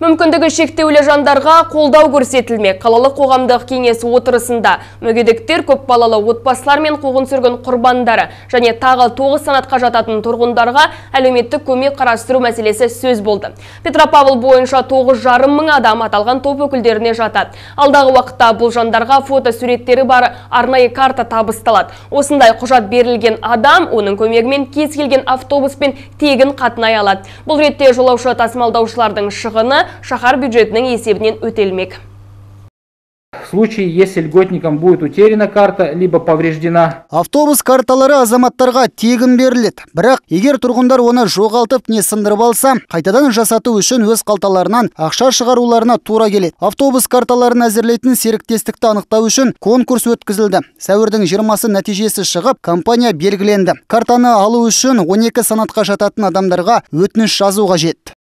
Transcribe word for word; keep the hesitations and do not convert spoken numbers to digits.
Мүмкіндігі шектеулі жандарға қолдау көрсетілмек. Қалалық қоғамдық кеңес отырысында мүгедектер, көп балалы отбасылар мен қуғын сүргін құрбандары және тағы тоғыз санатқа жататын тұрғындарға әлеуметтік көмек қарастыру мәселесі сөз болды. Петропавл бойынша тоғыз жарым мың адам аталған топ өкілдеріне жатады. Алдағы уақытта бұл жандарға фото суреттері бар арнайы карта табысталады. Осындай құжат берілген адам оның көмегімен кез келген автобуспен тегін қатынай алады. Бұл ретте жолаушы тасымалдаушылардың шығыны шаһар бюджетінің есебінен өтелмек. В случае, если льготникам будет утеряна карта, либо повреждена. Автобус карталары азаматтарға тегін беріледі. Бірақ, егер тұрғындар оны жоғалтып не сындырып алса, қайтадан жасату үшін өз қалталарынан ақша шығаруларына тура келеді. Автобус карталарын әзірлейтін серіктестікті анықтау үшін конкурс өткізілді. Сәуірдің жиырмасы нәтижесі шығып, компания белгіленді. Картаны алу үшін он екі санатқа жататын адамдарға өтініш жазу қажет.